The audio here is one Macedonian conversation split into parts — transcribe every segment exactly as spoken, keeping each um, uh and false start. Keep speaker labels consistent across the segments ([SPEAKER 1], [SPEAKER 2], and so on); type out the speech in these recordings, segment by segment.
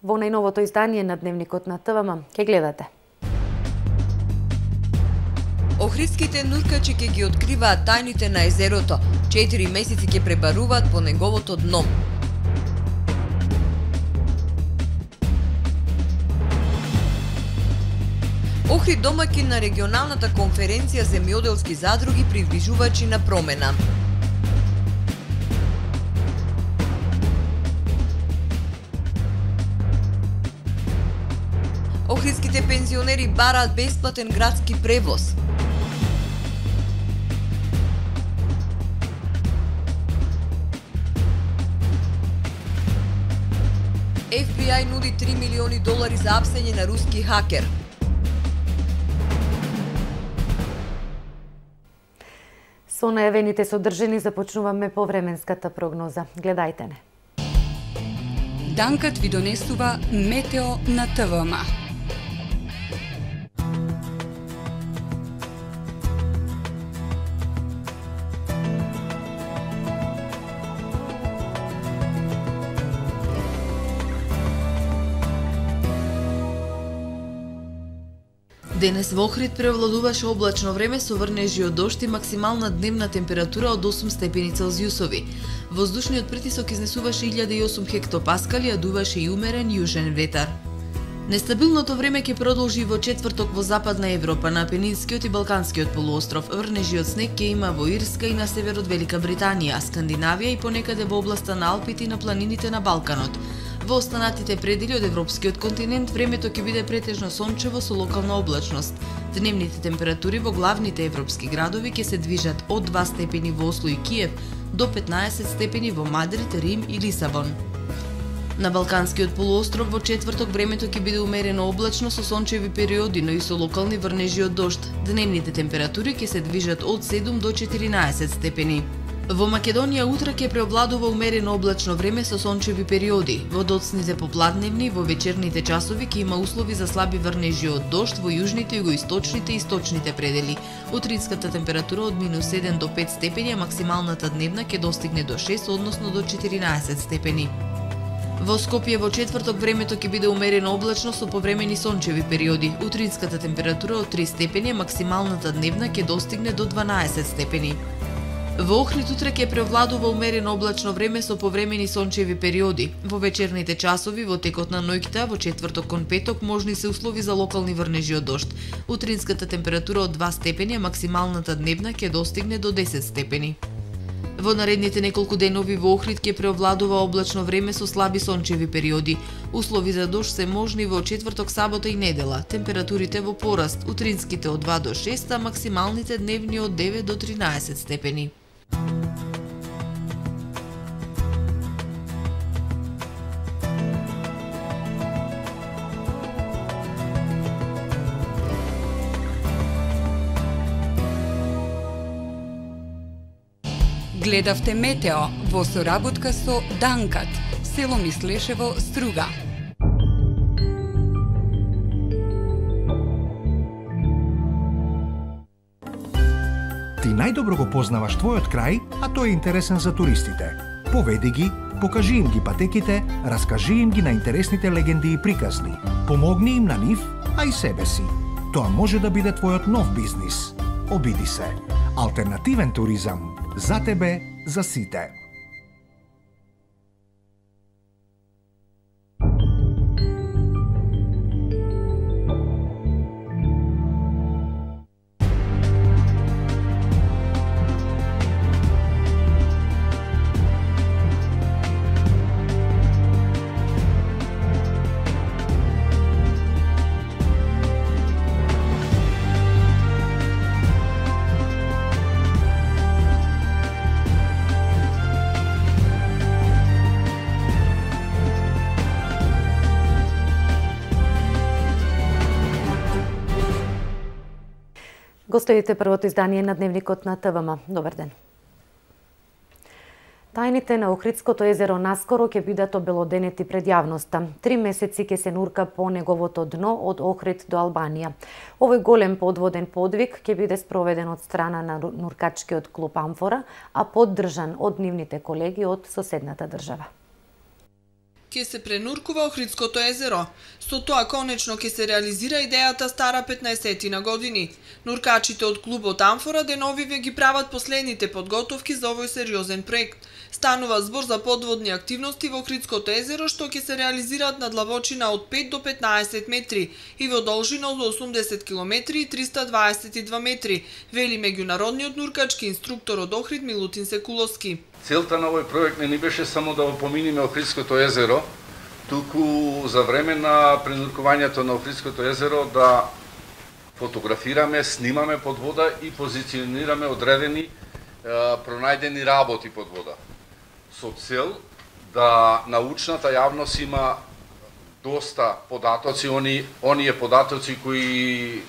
[SPEAKER 1] Во најновото издание на Дневникот на ТВМ ќе гледате.
[SPEAKER 2] Охридските нуркачи ќе ги откриваат тајните на езерото. Четири месеци ќе пребаруваат по неговото дно. Охрид домаќин на регионалната конференција земјоделски задруги придвижувачи на промена. Охридските пензионери бараат бесплатен градски превоз. Еф Би Ај нуди три милиони долари за апсење на руски хакер.
[SPEAKER 1] Со најавените содржини започнуваме повременската прогноза. Гледајте не.
[SPEAKER 3] Данкат ви донесува Метео на ТВМ.
[SPEAKER 4] Денес во Охрид превладуваше облачно време со врнежи од дожд и максимална дневна температура од осум степени Целзиусови. Воздушниот притисок изнесуваше илјада и осум хектопаскали, а дуваше и умерен јужен ветар. Нестабилното време ќе продолжи во четврток во Западна Европа, на Апенинскиот и Балканскиот полуостров. Врнежи од снег ќе има во Ирска и на север од Велика Британија, Скандинавија и понекаде во областа на Алпите и на планините на Балканот. Во останатите предели од европскиот континент времето ќе биде претежно сончево со локална облачност. Дневните температури во главните европски градови ќе се движат од два степени во Осло и Киев до петнаесет степени во Мадрид, Рим и Лисабон. На Балканскиот полуостров во четврток времето ќе биде умерено облачно со сончеви периоди, но и со локални врнежи од дожд. Дневните температури ќе се движат од седум до четиринаесет степени. Во Македонија утре ќе преовладува умерено облачно време со сончеви периоди. Во доцните попладневни во вечерните часови ќе има услови за слаби врнежи од дожд во јужните, југоисточните и источните предели. Утринската температура од минус седум до пет степени, а максималната дневна ќе достигне до шест, односно до четиринаесет степени. Во Скопје во четврток времето ќе биде умерено облачно со повремени сончеви периоди. Утринската температура од три степени, а максималната дневна ќе достигне до дванаесет степени. Во Охрид утре ќе превладува умерено облачно време со повремени сончеви периоди. Во вечерните часови во текот на ноќта во четврток кон петок можни се услови за локални врнежи од дожд. Утринската температура од два степени, а максималната дневна ќе достигне до десет степени. Во наредните неколку денови во Охрид ќе преовладува облачно време со слаби сончеви периоди. Услови за дожд се можни во четврток, сабота и недела. Температурите во пораст, утринските од два до шест, а максималните дневни од девет до тринаесет степени.
[SPEAKER 3] Гледавте Метео во соработка со Данкат, село Мислешево, Струга.
[SPEAKER 5] Ти најдобро го познаваш твојот крај, а тој е интересен за туристите. Поведи ги, покажи им ги патеките, раскажи им ги на интересните легенди и приказни. Помогни им на нив, а и себе си. Тоа може да биде твојот нов бизнис. Обиди се. Алтернативен туризам. За тебе, за сите.
[SPEAKER 1] Гостовите првото издание на Дневникот на ТВМ. Добар ден. Тајните на Охридското езеро наскоро ќе бидат обелоденети пред јавноста. Три месеци ќе се нурка по неговото дно од Охрид до Албанија. Овој голем подводен подвиг ќе биде спроведен од страна на нуркачкиот клуб Амфора, а поддржан од нивните колеги од соседната држава.
[SPEAKER 6] ќе се пренуркува Охридското езеро. Со тоа конечно ќе се реализира идејата стара петнаесет години. Нуркачите од клубот Амфора деновиве ги прават последните подготовки за овој сериозен проект. Станува збор за подводни активности во Охридското езеро што ќе се реализираат на длабочина од пет до петнаесет метри и во должина од осумдесет километри и триста дваесет и два метри, вели меѓународниот нуркачки инструктор од Охрид Милутин Секуловски.
[SPEAKER 7] Целта на овој проект не ни беше само да опоминиме Охридското езеро, туку за време на пренуркувањето на Охридското езеро да фотографираме, снимаме под вода и позиционираме одредени е, пронајдени работи под вода. Со цел да научната јавност има доста податоци, они, оние податоци кои е,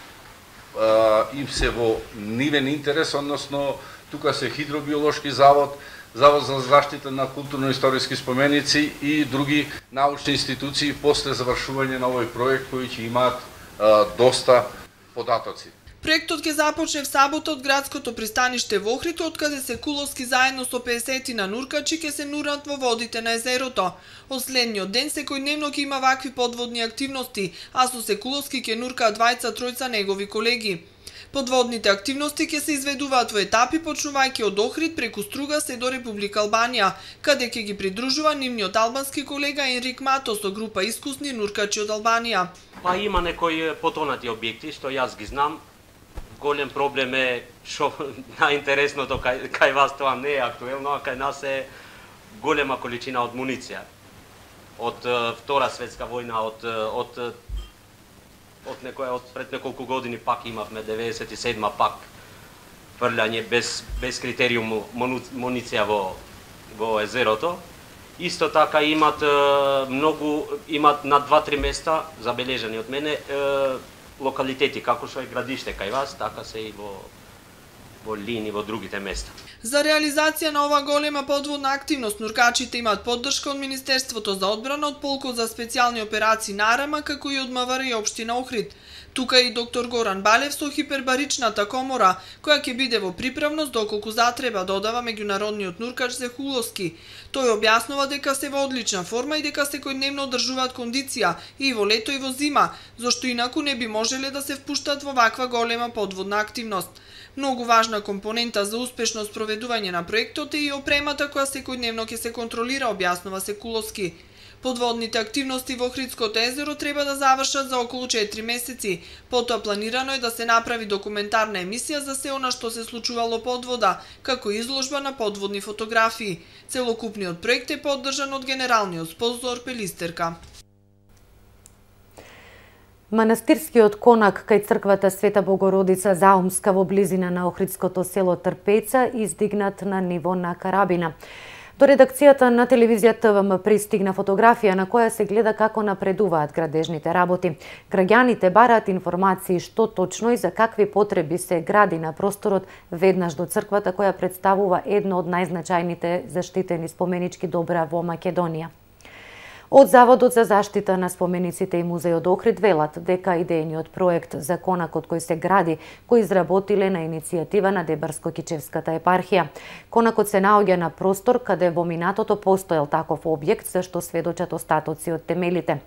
[SPEAKER 7] им се во нивен интерес, односно тука се Хидробиолошки завод, Завод за заштита на културно-историски споменици и други научни институции после завршување на овој проект кои ќе имаат а, доста податоци.
[SPEAKER 6] Проектот ќе започне в сабота од градското пристаниште во Охрид, откаде Секуловски заедно со пеесет на нуркачи ќе се нурнат во водите на езерото. Од следниот ден секојдневно ќе има вакви подводни активности, а со Секуловски ќе нуркаат двајца тројца негови колеги. Подводните активности ќе се изведуваат во етапи, почнувајќи од Охрид преку Струга се до Република Албанија, каде ќе ги придружува нивниот албански колега Енрик Мато со група искусни нуркачи од Албанија.
[SPEAKER 8] Па има некои потонати објекти што јас ги знам. Голем проблем е што најинтересното кај, кај вас тоа не е актуелно, а кај нас е голема количина од муниција. Од Втора светска војна, од од од некоја од пред неколку години пак имавме деветдесет и седма пак фрљање без без критериум муниција во во езерото. Исто така имат многу имат на два-три места забележани од мене локалитети, како што е градиште кај вас, така се и во во Лини, во другите места.
[SPEAKER 6] За реализација на ова голема подводна активност, нуркачите имаат поддршка од Министерството за одбрана, од Полкот за специјални операции Нарама, како и од МВР и Општина Охрид. Тука и доктор Горан Балев со хипербаричната комора, која ќе биде во приправност доколку затреба, додава меѓународниот нуркач Секуловски. Тој објаснува дека се во одлична форма и дека секојдневно одржуваат кондиција и во лето и во зима, зашто инаку не би можеле да се впуштат во ваква голема подводна активност. Многу важна компонента за успешно спроведување на проектот е и опремата која секојдневно ќе се контролира, објаснува Секуловски. Подводните активности во Охридското езеро треба да завршат за околу четири месеци. Потоа планирано е да се направи документарна емисија за се она што се случувало под вода, како изложба на подводни фотографии. Целокупниот проект е поддржан од генералниот спонзор Пелистерка.
[SPEAKER 1] Манастирскиот конак кај црквата Света Богородица Заумска во близина на Охридското село Трпеца издигнат на ниво на карабина. До редакцијата на телевизија ТВМ пристигна фотографија на која се гледа како напредуваат градежните работи. Граѓаните бараат информации што точно и за какви потреби се гради на просторот веднаш до црквата, која представува едно од најзначајните заштитени споменички добра во Македонија. Од Заводот за заштита на спомениците и музејот Охрид велат дека идејниот проект за конакот кој се гради го изработиле на иницијатива на Дебарско-Кичевската епархија. Конакот се наоѓа на простор каде во минатото постоел таков објект, за што сведочат остатоци од темелите.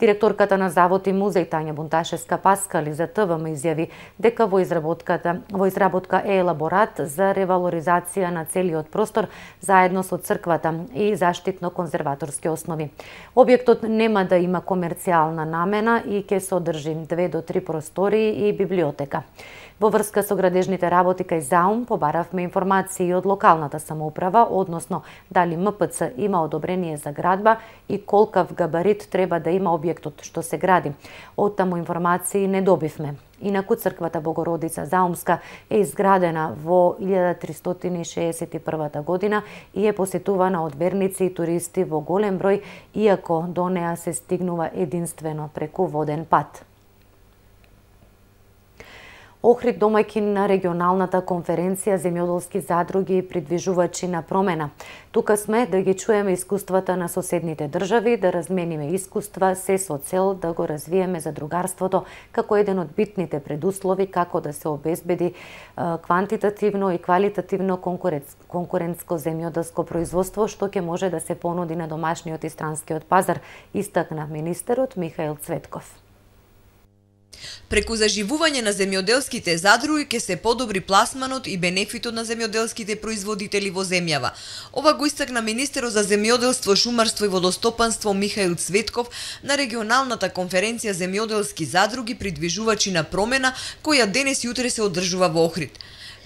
[SPEAKER 1] Директорката на Завод и музеј Тања Бунташевска-Паскали за ТВМ изјави дека во изработката во изработка е елаборат за ревалоризација на целиот простор заедно со црквата и заштитно-конзерваторски основи. Објектот нема да има комерцијална намена и ќе содржи две до три простории и библиотека. Во врска со градежните работи кај Заум побаравме информации од локалната самоуправа, односно дали М П Ц има одобрение за градба и колкав габарит треба да има објектот што се гради. Од таму информации не добивме. Инаку црквата Богородица Заумска е изградена во илјада тристотини и шеесет и прва година и е посетувана од верници и туристи во голем број, иако до неа се стигнува единствено преку воден пат. Охрид домаќин на регионалната конференција земјоделски задруги и придвижувачи на промена. Тука сме да ги чуеме искуствата на соседните држави, да размениме искуства, се со цел да го развиеме задругарството како еден од битните предуслови како да се обезбеди квантитативно и квалитативно конкурентско земјоделско производство што ќе може да се понуди на домашниот и странскиот пазар, истакна министерот Михаил Цветков.
[SPEAKER 2] Преку заживување на земјоделските задруги ќе се подобри пласманот и бенефитот на земјоделските производители во земјава. Ова го истакна министерот за земјоделство, шумарство и водостопанство Михаил Цветков на регионалната конференција земјоделски задруги придвижувачи на промена, која денес и утре се одржува во Охрид.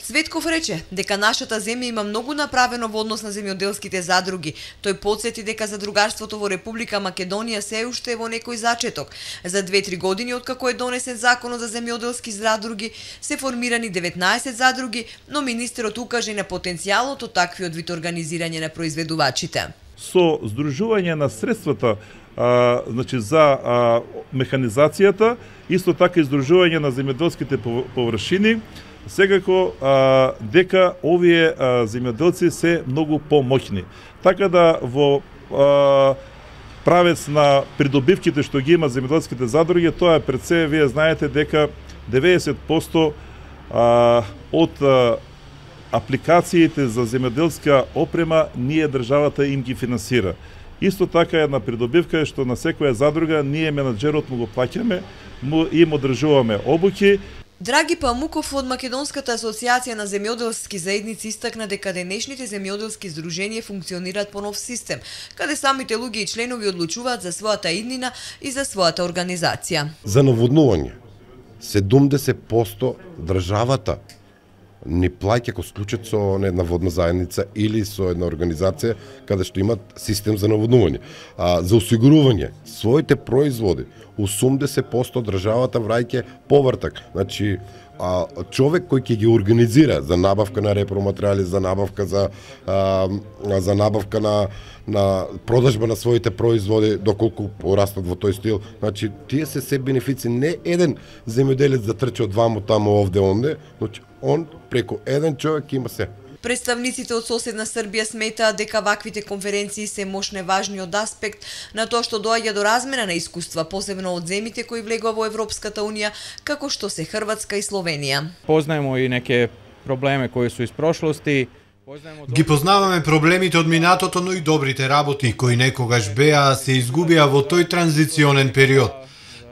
[SPEAKER 2] Цветков рече дека нашата земја има многу направено во однос на земјоделските задруги. Тој потсети дека задругарството во Република Македонија се уште е во некој зачеток. За две-три години откако е донесен законот за земјоделски задруги, се формирани деветнаесет задруги, но министерот укаже на потенцијалот од таквиот вид организирање на произведувачите.
[SPEAKER 9] Со здружување на средствата а, значи за а, механизацијата, исто така и здружување на земјоделските површини, секако а, дека овие а, земјоделци се многу помоќни. Така да во а, правец на придобивките што ги има земјоделските задруги, тоа е пред се, вие знаете дека деветдесет проценти а, од а, апликациите за земјоделска опрема ние државата им ги финансира. Исто така една придобивка е што на секоја задруга ние менаџерот му го плаќаме, му им одржуваме обуки.
[SPEAKER 2] Драги Памуков од Македонската асоциација на земјоделски заедници истакна дека денешните земјоделски здруженија функционираат по нов систем, каде самите луѓе и членови одлучуваат за својата иднина и за својата организација.
[SPEAKER 10] За наводнување седумдесет проценти државата ни плаќа кога склучат со една водна заедница или со една организација каде што имат систем за наводнување. А за осигурување своите производи осумдесет проценти државата враќа повртак. Значи, а, човек кој ќе ги организира за набавка на репроматеријали, за набавка за а, за набавка на на продажба на своите производи доколку порастат во тој стил. Значи, тие се се бенефици, не еден земјоделец да трчи од ваму таму овде онде, значи он преку еден човек има се.
[SPEAKER 2] Представниците од соседна Србија сметаат дека ваквите конференции се мощне важниот аспект на тоа што доаѓа до размена на искуства, посебно од земите кои влегува во Европската унија, како што се Хрватска и Словенија.
[SPEAKER 11] Познаемо и неке проблеми кои су из прошлости.
[SPEAKER 12] Ги познаваме проблемите од минатото, но и добрите работи кои некогаш беа, се изгубија во тој транзиционен период.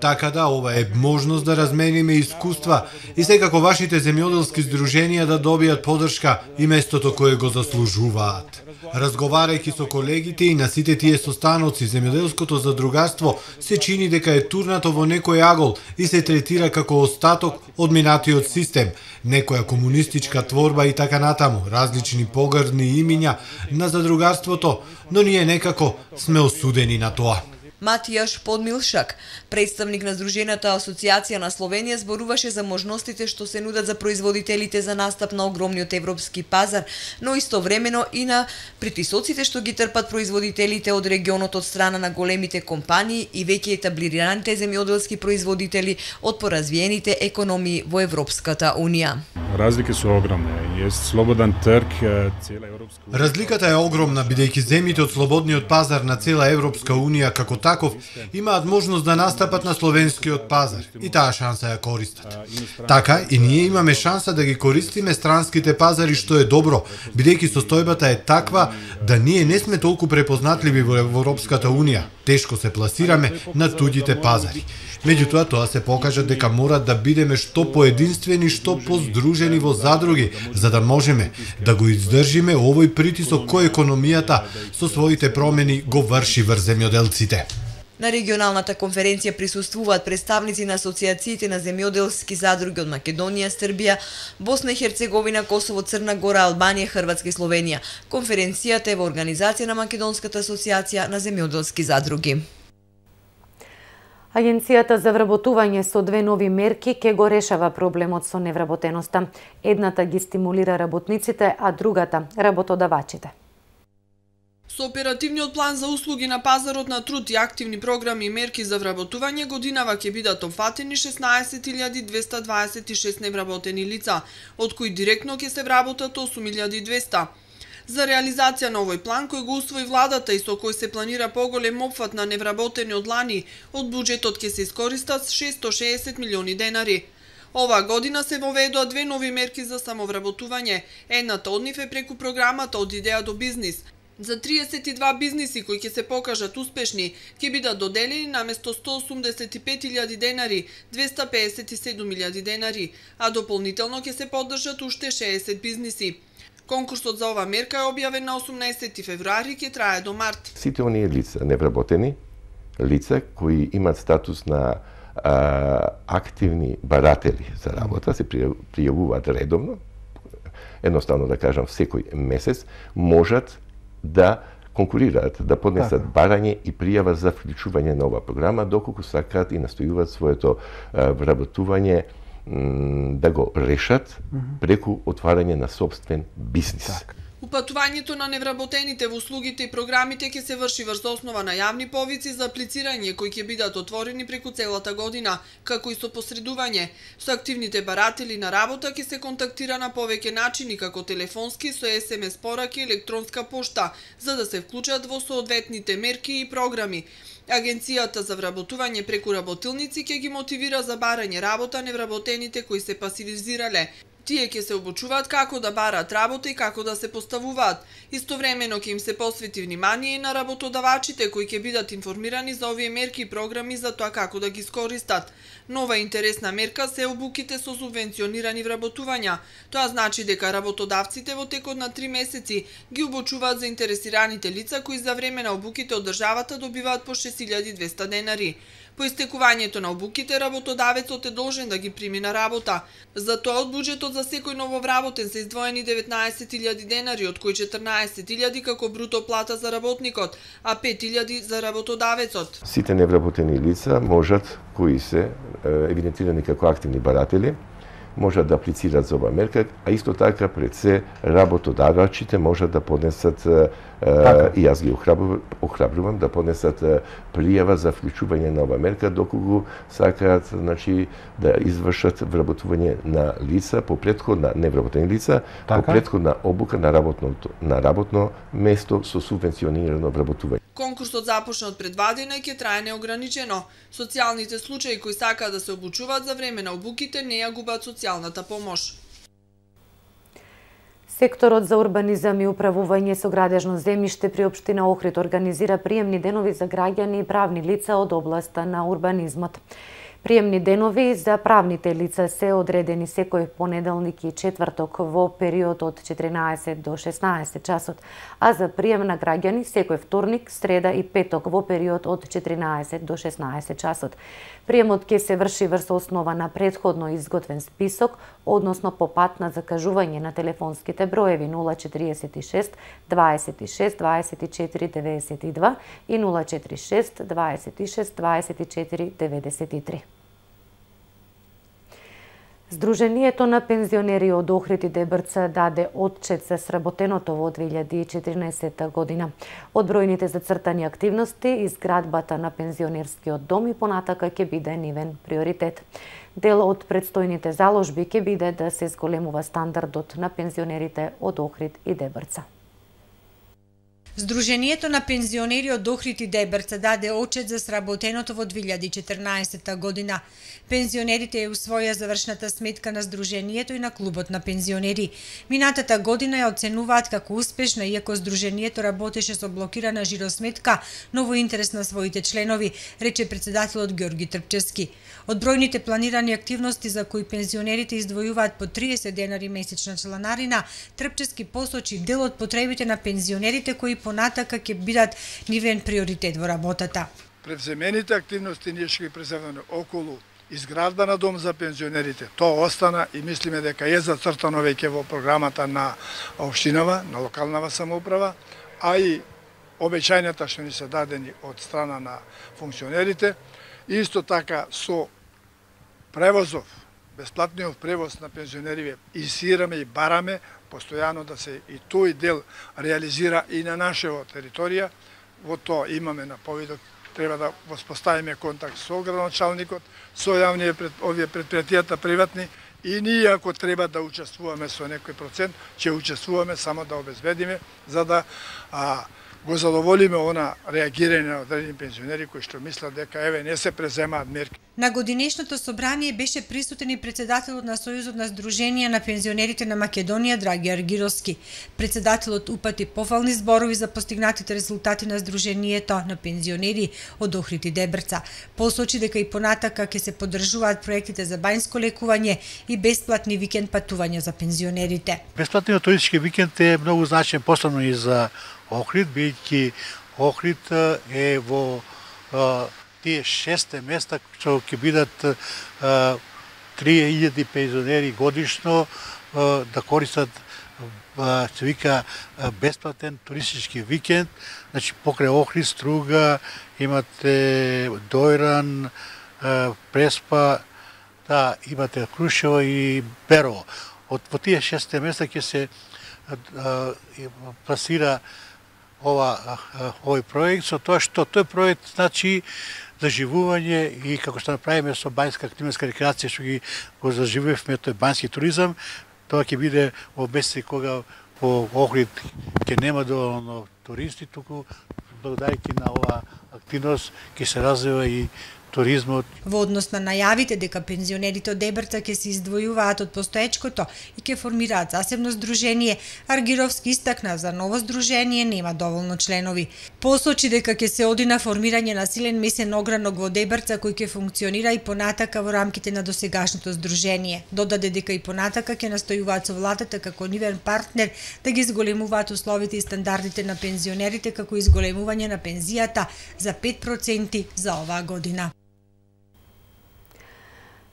[SPEAKER 12] Така да, ова е можност да размениме искуства и секако вашите земјоделски здруженија да добијат поддршка и местото кое го заслужуваат. Разговарајќи со колегите и на сите тие состаноци, земјоделското задругарство се чини дека е турнато во некој агол и се третира како остаток од минатиот систем, некоја комунистичка творба и така натаму, различни погрдни имиња на задругарството, но ние некако сме осудени на тоа.
[SPEAKER 2] Матијаш Подмилшак, представник на Здружената асоциација на Словенија, зборуваше за можностите што се нудат за производителите за настап на огромниот европски пазар, но истовремено и на притисоците што ги трпат производителите од регионот од страна на големите компании и веќе етаблираните земјоделски производители од поразвиените економии во Европската унија.
[SPEAKER 13] Разлики се огромни. Е слободен трг цела Европска унија.
[SPEAKER 12] Разликата е огромна бидејќи земјите од слободниот пазар на цела Европска унија како таков имаат можност да настапат на словенскиот пазар и таа шанса ја користат. Така и ние имаме шанса да ги користиме странските пазари, што е добро, бидејќи состојбата е таква да ние не сме толку препознатливи во Европската унија. Тешко се пласираме на туѓите пазари. Меѓутоа, тоа се покажа дека мора да бидеме што поединствени, што поздружени во задруги, за да можеме да го издржиме овој притисок кој економијата со своите промени го врши врз земјоделците.
[SPEAKER 2] На регионалната конференција присуствуваат представници на асоциациите на земјоделски задруги од Македонија, Србија, Босна и Херцеговина, Косово, Црна Гора, Албанија, Хрватска и Словенија. Конференцијата е во организација на Македонската асоциација на земјоделски задруги.
[SPEAKER 1] Агенцијата за вработување со две нови мерки ќе го решава проблемот со невработеноста. Едната ги стимулира работниците, а другата работодавачите.
[SPEAKER 6] Со оперативниот план за услуги на пазарот на труд и активни програми и мерки за вработување, годинава ќе бидат опфатени шеснаесет илјади двесте дваесет и шест невработени лица, од кои директно ќе се вработат осум илјади и двесте. За реализација на овој план, кој го усвои владата и со кој се планира поголем опфат на невработени од лани, од буџетот ќе се искористат шесто шеесет милиони денари. Оваа година се воведоа две нови мерки за самовработување. Едната од нив е преку програмата Од идеја до бизнис. За триесет и два бизниси кои ќе се покажат успешни, ќе бидат доделени наместо сто осумдесет и пет илјади денари, двесте пеесет и седум илјади денари, а дополнително ќе се поддржат уште шеесет бизниси. Конкурсот за оваа мерка е објавен на осумнаесети февруари и ќе трае до март.
[SPEAKER 14] Сите оние лица, невработени лица кои имат статус на а, активни баратели за работа, се пријавуваат редовно, едноставно да кажам секој месец, можат да конкурираат, да поднесат барање и пријава за вклучување на оваа програма, доколку сакаат и настојуваат своето а, вработување да го решат преку отварање на собствен бизнис. Так.
[SPEAKER 6] Упатувањето на невработените во услугите и програмите ќе се врши врз основа на јавни повици за аплицирање кои ќе бидат отворени преку целата година, како и со посредување. Со активните баратели на работа ќе се контактира на повеќе начини, како телефонски, со ес ем ес пораки и електронска пошта, за да се вклучат во соодветните мерки и програми. Агенцијата за вработување преку работилници ќе ги мотивира за барање работа невработените кои се пасивизирале. Тие ќе се обучуваат како да бараат работа и како да се поставуваат. Истовремено ќе им се посвети внимание и на работодавачите кои ќе бидат информирани за овие мерки и програми за тоа како да ги искористат. Нова интересна мерка се обуките со субвенционирани вработувања. Тоа значи дека работодавците во текот на три месеци ги обучуваат заинтересираните лица кои за време на обуките од државата добиваат по шест илјади и двесте денари. По истекувањето на обуките, работодавецот е должен да ги прими на работа. За тоа од буџетот за секој нововработен се издвоени деветнаесет илјади денари, од кои четрнаесет илјади како бруто плата за работникот, а пет илјади за работодавецот.
[SPEAKER 14] Сите невработени лица можат, кои се евидентирани како активни баратели, можат да аплицираат за оваа мерка, а исто така пред се работодавачите можат да поднесат, така. И јас ги охрабрувам да поднесат пријава за вклучување на оваа мерка, доколку сакаат, значи, да извршат вработување на лица по претходна невработени лица, така. По претходна обука на работно на работно место со субвенционирано вработување.
[SPEAKER 6] Конкурсот започна од предвадена и ќе трае неограничено. Социјалните случаи кои сакаат да се обучуваат за време на обуките не ја губат социјалната помош.
[SPEAKER 1] Секторот за урбанизам и управување со градежно земјиште при општина Охрид организира приемни денови за граѓани и правни лица од областа на урбанизмот. Приемни денови за правните лица се одредени секој понеделник и четврток во период од четиринаесет до шеснаесет часот, а за прием на граѓани секој вторник, среда и петок во период од четиринаесет до шеснаесет часот. Приемот ќе се врши врз основа на претходно изготвен список, односно по пат на закажување на телефонските броеви нула четириесет и шест дваесет и шест дваесет и четири деветдесет и два и нула четири шест дваесет и шест дваесет и четири деветдесет и три. Сдруженијето на пензионери од Охрид и Дебрца даде отчет за сработеното во две илјади и четирнаесетта година. Од бројните зацртани активности, изградбата на пензионерскиот дом и понатака ќе биде нивен приоритет. Дел од предстојните заложби ќе биде да се зголемува стандардот на пензионерите од Охрид и Дебрца.
[SPEAKER 15] Сдруженијето на пензионери од Охрид и Дебрца даде отчет за сработеното во две илјади и четрнаесетта година. Пензионерите ја усвоја завршната сметка на Сдруженијето и на клубот на пензионери. Минатата година ја оценуваат како успешна, иако Сдруженијето работеше со блокирана жиросметка, но во интерес на своите членови, рече председателот Ѓорги Трпчевски. Од бројните планирани активности за кои пензионерите издвојуваат по триесет денари месечна чланарина, Трпчевски посочи дел од потребите на пензионерите кои понатака ќе бидат нивен приоритет во работата.
[SPEAKER 16] Превземените активности ние ќе ги преземеме околу изградба на дом за пензионерите. Тоа остана и мислиме дека е зацртано веќе во програмата на општинава, на локалната самоуправа, а и обеќањата што ни се дадени од страна на функционерите. Исто така со превозов бесплатниот превоз на пензионериве инсистираме и бараме постојано да се и тој дел реализира и на нашава територија. Во тоа имаме наповедок, треба да воспоставиме контакт со градоначалникот, со јавните пред, овие предпријатијата приватни, и ние ако треба да учествуваме со некој процент, ќе учествуваме само да обезбедиме за да а, го задоволиме она реагирање на одредени пензионери кои што мислат дека еве не се преземаат мерки.
[SPEAKER 15] На годинешното собрание беше присутен и председателот на Сојузот на Сдруженија на пензионерите на Македонија Драги Аргировски. Председателот упати пофални зборови за постигнатите резултати на Сдруженијето на пензионери од Охрид и Дебрца. Посочи дека и понатака ќе се поддржуваат проектите за бањско лекување и бесплатни викенд патувања за пензионерите.
[SPEAKER 17] Бесплатниот туристички викенд е многу значаен посебно и за Охрид, бидејќи Охрид е во а, тие шесте места што ќе бидат три илјади пензионери годишно а, да користат а, се вика а, бесплатен туристички викенд. Значи покрај Охрид, Струга, имате Дојран, а, Преспа, да, имате Крушево и Берово. Од во тие шесте места ќе се а, пласира ова овој проект, со тоа што тој проект значи заживување и како што направиме со бањска климатска рекреација, што ги го заживувавме тој бањски туризам, тоа ќе биде во месеци кога во Охрид ќе нема доволно туристи, туку благодарејќи на оваа активност ќе се развива и туризмот.
[SPEAKER 15] Во однос на најавите дека пензионерите од Дебрца ќе се издвојуваат од постоечкото и ќе формираат засебно здружение, Аргировски истакна за ново здружение нема доволно членови. Посочи дека ќе се оди на формирање на силен месен огранок во Дебрца кој ќе функционира и понатака во рамките на досегашното здружение. Додаде дека и понатака ќе настојуваат со владата како нивен партнер да ги зголемуваат условите и стандардите на пензионерите како изголемување на пензијата за пет проценти за оваа година.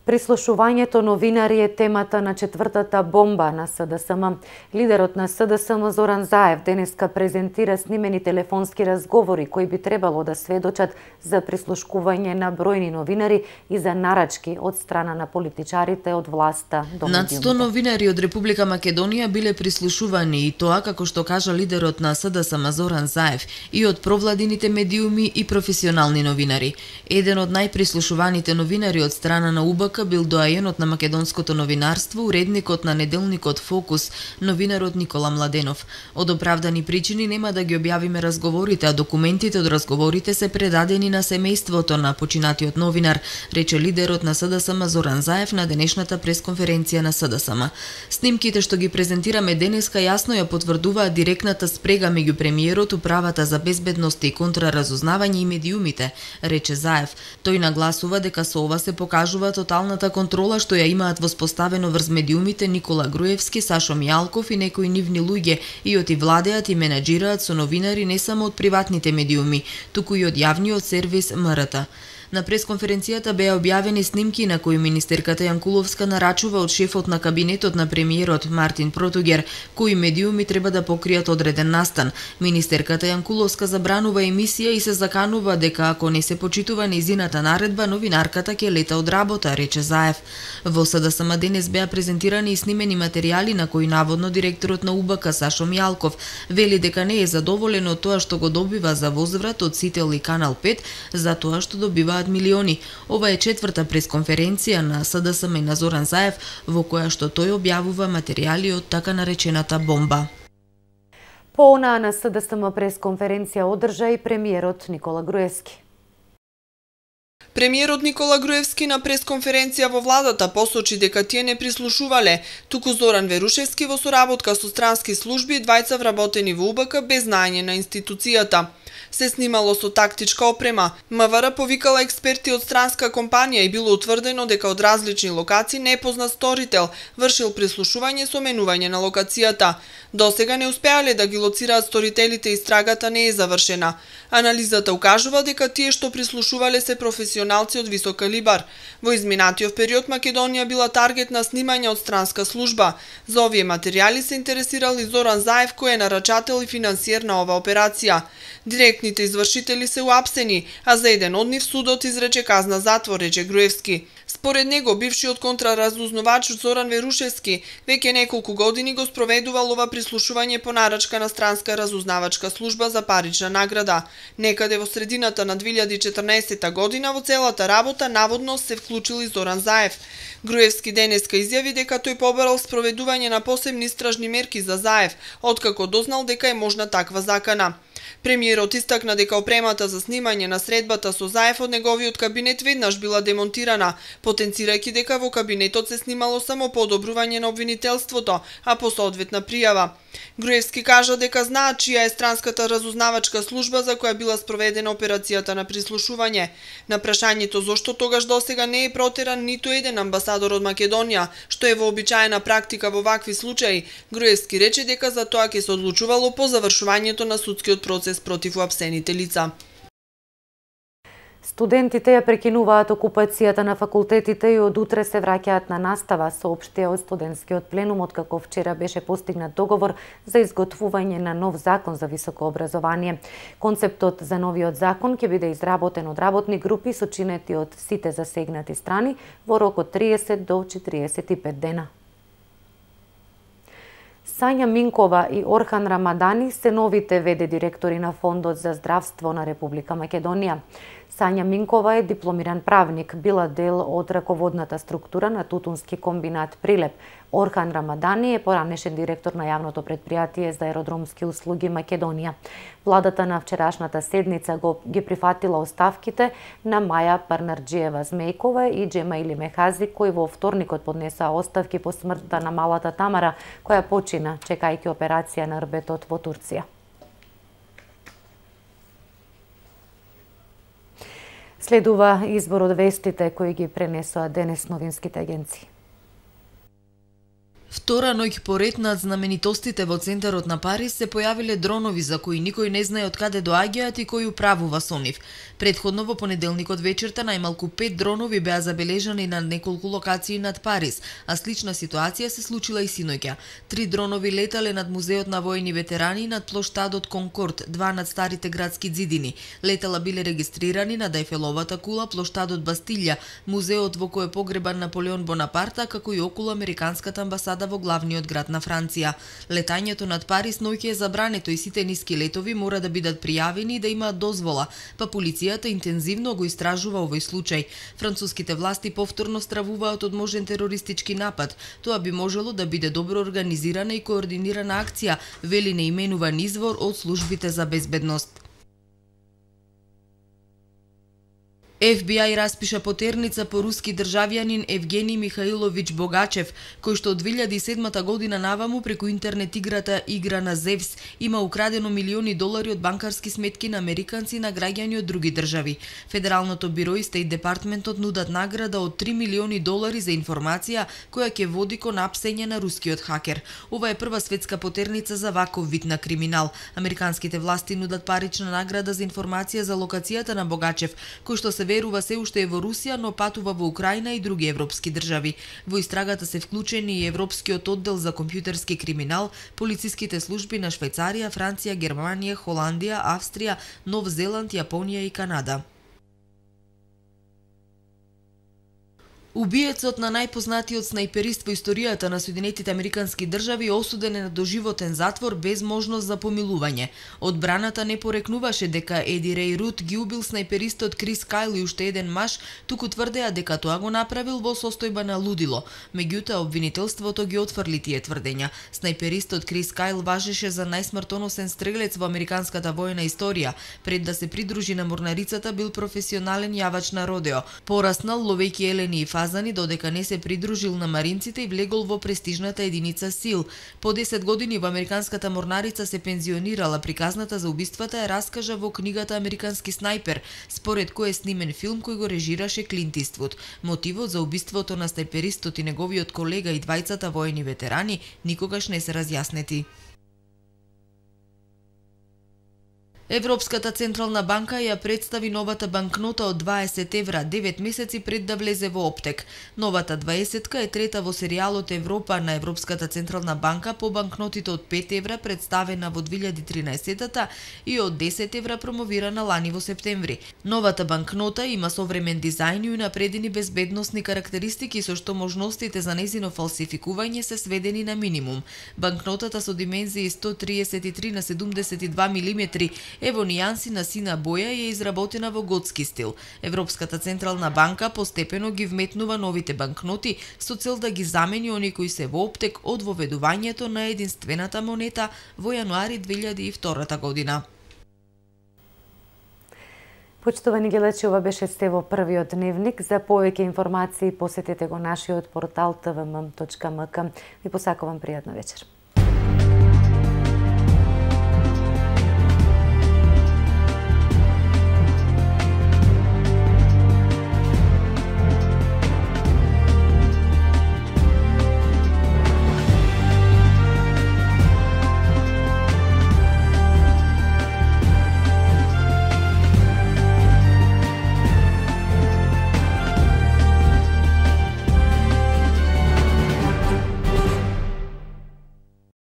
[SPEAKER 1] Прислушувањето новинари е темата на четвртата бомба на СДСМ. Лидерот на СДСМ Зоран Заев денеска презентира снимени телефонски разговори кои би требало да сведочат за прислушкување на бројни новинари и за нарачки од страна на политичарите од власта до медиумите.
[SPEAKER 4] Над сто новинари од Република Македонија биле прислушувани и тоа, како што кажа лидерот на СДСМ Зоран Заев, и од провладините медиуми и професионални новинари. Еден од најприслушуваните новинари од страна на УБК бил доајенот на македонското новинарство, уредникот на неделникот Фокус, новинарот Никола Младенов. Од оправдани причини нема да ги објавиме разговорите, а документите од разговорите се предадени на семејството на починатиот новинар, рече лидерот на СДСМ Зоран Заев на денешната пресконференција на СДСМ. Снимките што ги презентираме денеска јасно ја потврдуваат директната спрега меѓу премиерот, управата за безбедност и контраразузнавање и медиумите, рече Заев. Тој нагласува дека со ова се покажува тоталната контрола што ја имаат воспоставено врз медиумите Никола Груевски, Сашо Мијалков и некои нивни луѓе и оти владеат и менаџираат со новинари не само од приватните медиуми, туку и од јавниот сервис М Р Т. На пресконференцијата беа објавени снимки на кои министерката Јанкуловска нарачува од шефот на кабинетот на премиерот Мартин Протугер, кои медиуми треба да покријат одреден настан. Министерката Јанкуловска забранува емисија и се заканува дека ако не се почитува нејзината наредба, новинарката ќе лета од работа, рече Заев. Во СДСМ денес беа презентирани и снимени материјали на кои наводно директорот на УБК Сашо Мијалков вели дека не е задоволен од тоа што го добива за возврат од Сител и Канал пет, за тоа што добива милиони. Ова е четврта пресконференција на СДСМ и на Зоран Заев, во која што тој објавува материјали од така наречената бомба.
[SPEAKER 1] По онаа на СДСМ пресконференција одржа и премиерот Никола Груевски.
[SPEAKER 6] Премиерот Никола Груевски на пресконференција во владата посочи дека тие не прислушувале, туку Зоран Верушевски во соработка со странски служби двајца вработени во УБК без знаење на институцијата. Се снимало со тактичка опрема. МВР повикала експерти од странска компанија и било утврдено дека од различни локации непознат сторител вршил прислушување со менување на локацијата. Досега не успеале да ги лоцираат сторителите и истрагата не е завршена. Анализата укажува дека тие што прислушувале се професионалци од висок калибар. Во изминатиот период Македонија била таргет на снимање од странска служба. За овие материјали се интересирал и Зоран Заев, кој е нарачател и финансиер на оваа операција. Директор директните извршители се уапсени, а за еден од нив судот изрече казна затвор, рече Груевски. Според него, бившиот контраразузнавач Зоран Верушевски веќе неколку години го спроведувал ова прислушување по нарачка на странска разузнавачка служба за парична награда. Некаде во средината на две илјади и четрнаесетта година во целата работа наводно се вклучил и Зоран Заев. Груевски денеска изјави дека тој побарал спроведување на посебни истражни мерки за Заев, откако дознал дека е можна таква закана. Премиерот истакна дека опремата за снимање на средбата со Заев од неговиот кабинет веднаш била демонтирана, потенцирајќи дека во кабинетот се снимало само подобрување на обвинителството, а по соодветна пријава. Груевски кажа дека знаат чија е странската разузнавачка служба за која била спроведена операцијата на прислушување. На прашањето зошто тогаш досега не е протеран ниту еден амбасадор од Македонија, што е вообичаена практика во вакви случаи, Груевски рече дека за тоа ќе се одлучувало по завршувањето на судскиот процес против уапсените лица.
[SPEAKER 1] Студентите ја прекинуваат окупацијата на факултетите и од утре се враќаат на настава, соопштија од студентскиот пленум, откако вчера беше постигнат договор за изготвување на нов закон за високо образование. Концептот за новиот закон ќе биде изработен од работни групи сочинети од сите засегнати страни во рок од триесет до четириесет и пет дена. Сања Минкова и Орхан Рамадани се новите ве де директори на Фондот за здравство на Република Македонија. Сања Минкова е дипломиран правник, била дел од раководната структура на тутунски комбинат Прилеп. Орхан Рамадани е поранешен директор на јавното предпријатие за аеродромски услуги Македонија. Владата на вчерашната седница го ги прифатила оставките на Маја Парнарџиева Змејкова и Џемаили Мехази, кои во вторникот поднесаа оставки по смртта на малата Тамара, која почина чекајќи операција на рбетот во Турција. Следува избор од вестите кои ги пренесоа денес новинските агенции.
[SPEAKER 4] Втора ноќ поред над знаменитостите во центарот на Париз се појавиле дронови за кои никој не знае од каде доаѓаат и кој управува со нив. Предходно во понеделникот вечерта најмалку пет дронови беа забележани на неколку локации над Париз, а слична ситуација се случила и синоќа. Три дронови летале над музеот на воени ветерани и над плоштадот Конкорд, два над старите градски ѕидини. Летала биле регистрирани над Ејфеловата кула, плоштадот Бастилја, музеот во кој е погребан Наполеон Бонапарта, како и околу американската амбасада во главниот град на Франција. Летањето над Париз ноќе е забрането и сите ниски летови мора да бидат пријавени и да имаат дозвола, па полицијата интензивно го истражува овој случај. Француските власти повторно стравуваат од можен терористички напад. Тоа би можело да биде добро организирана и координирана акција, вели неименуван извор од службите за безбедност. Еф Би Ај распиша потерница по руски државјанин Евгений Михаилович Богачев, кој што од две илјади и седмата година наваму преку интернет играта Игра на Зевс има украдено милиони долари од банкарски сметки на американци и на граѓани од други држави. Федералното биро и Стейт Департментот нудат награда од три милиони долари за информација која ќе води кон апсење на рускиот хакер. Ова е прва светска потерница за ваков вид на криминал. Американските власти нудат парична награда за информација за локацијата на Богачев, кој што се верува се уште е во Русија, но патува во Украина и други европски држави. Во истрагата се вклучени и Европскиот оддел за компјутерски криминал, полициските служби на Швајцарија, Франција, Германија, Холандија, Австрија, Нов Зеланд, Јапонија и Канада. Убиецот на најпознатиот снајперист во историјата на Соединетите американски држави осуден е на доживотен затвор без можност за помилување. Одбраната не порекнуваше дека Еди Рей Рут ги убил снајперистот Крис Кайл и уште еден маж, туку тврдеа дека тоа го направил во состојба на лудило. Меѓутоа, обвинителството ги отфрли тие тврдења. Снајперистот Крис Кайл важеше за најсмртоносен стрелец во американската војна историја. Пред да се придружи на морнарицата бил професионален јавач на родео. Пораснал ловејќи елени и фазани додека не се придружил на маринците и влегол во престижната единица СИЛ. По десет години во американската морнарица се пензионирала. Приказната за убиствата ја раскажа во книгата Американски снајпер, според кој е снимен филм кој го режираше Клинт Иствуд. Мотивот за убиството на снајперистот и неговиот колега и двајцата воени ветерани никогаш не се разјаснети. Европската централна банка ја представи новата банкнота од дваесет евра девет месеци пред да влезе во оптек. Новата дваесетка е трета во серијалот Европа на Европската централна банка по банкнотите од пет евра представена во две илјади и тринаесетта и од десет евра промовирана лани во септември. Новата банкнота има современ дизајн и унапредени безбедносни карактеристики со што можностите за нејзино фалсификување се сведени на минимум. Банкнотата со димензии сто триесет и три на седумдесет и два милиметри е во нијанси на сина боја и е изработена во готски стил. Европската централна банка постепено ги вметнува новите банкноти со цел да ги замени оние кои се во оптек од воведувањето на единствената монета во јануари две илјади и втора година.
[SPEAKER 1] Почитувани гледачи, ова беше Стево првиот дневник. За повеќе информации посетете го нашиот портал т в м точка м к. Ви посакувам пријатна вечер.